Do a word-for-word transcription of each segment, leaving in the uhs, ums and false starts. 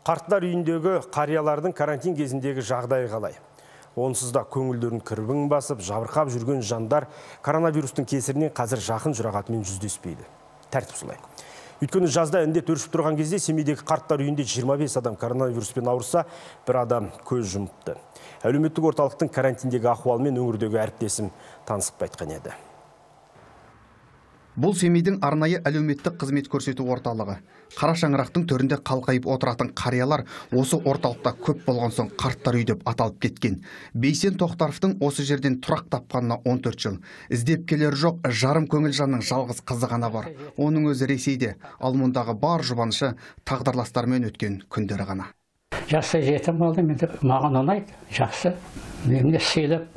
Қарттар үйіндегі қариялардың карантин кезіндегі жағдайы қалай? Онсыз да көңілдерін кірбің басып, жабырқап жүрген жандар коронавирустың кесірінен қазір жақын жұрағатымен жүздеспейді. Тәртіп солай. Өйткені жазда індет өршіп тұрған кезде Семейдегі қарттар үйінде жиырма бес адам коронавируспен ауырса, бір адам көз жұмыпты. Әлеуметтік орталықтың карантиндегі ахуалымен өңірдегі әріптесім танысып қайтқан еді. Бұл Семейдің арнайы әлеуметтік қызмет көрсету орталығы. Қара шаңырақтың төрінде қалқайып отыратын қариялар осы орталықта көп болған соң қарттар үй деп аталып кеткен. Бейсен Тоқтаровтың осы жерден тұрақ тапқанына он төрт жыл. Іздеп келер жоқ, жарым көңіл жанның жалғыз қызы ғана бар. Оның өзі Ресейде, ал мұндағы бар жұбанышы тағдырластармен өткен күндері ғана. Жақсы жетім болды, маған ұнайды, жақсы. Мені сыйлап,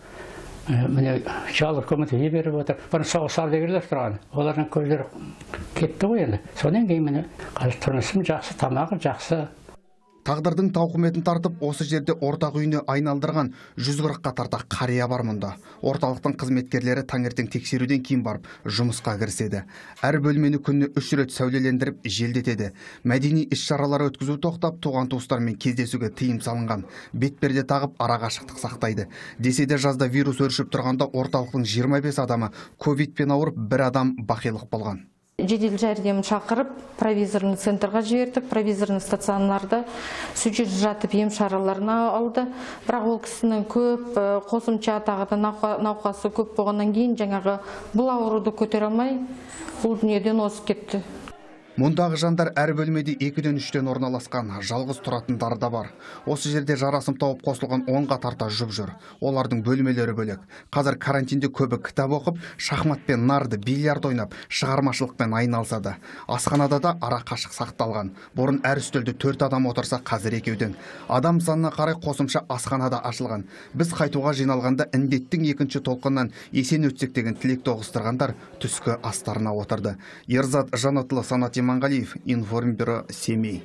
міне жалғыз көмекті беріп отыр. Бұрын соғыс ардагерлер тұрған. Олардың көздері кетті ғой енді. Содан кейін міне қазір тұрмысым жақсы, тамағы жақсы. Тағдырдың тауқыметін тартып, осы жерде ортақ үйіне айналдырған жүз қырыққа тарта қария бар мұнда. Орталықтың қызметкерлері таңертең тексеруден кейін барып жұмысқа кіріседі. Әр бөлмені күніне үш рет сәулелендіріп желдетеді. Мәдени іс-шаралар өткізу тоқтап, туған туыстармен кездесуге тыйым салынған. Бетперде тағып, арақашықтық сақтайды. Десе де жазда вирус өршіп тұрғанда орталықтың жиырма бес адамы ковидпен ауырып, бір адам бақилық болған. Жедел жәрдем шақырып, провизорный центрға жібердік. Провизорный стационарда сүйтіп жатып ем шараларына алды. Бірақ ол кісінің көп қосымша тағы да науқасы көп болғаннан кейін жаңағы бұл ауруды көтере алмай, бұл дүниеден озып кетті. Мұндағы жандар әр бөлмеде екіден үштен орналасқан, жалғыз тұратындар да бар. Осы жерде жарасым тауып қосылған онға тарта жұп жүр. Олардың бөлмелері бөлек. Қазір карантинде көбі кітап оқып, шахматпен, нарды, бильярд ойнап, шығармашылықпен айналысады. Асханада да ара қашық сақталған. Бұрын әр үстелде төрт адам отырса, қазір екеуден. Адам санына қарай қосымша асханада ашылған. Біз қайтуға жиналғанда індеттің екінші толқыннан есен өтсек деген тілек тоғыстырғандар түскі астарына отырды. Ерзат Жанатұлы, Санат Иманғалиев, Информбюро, Семей.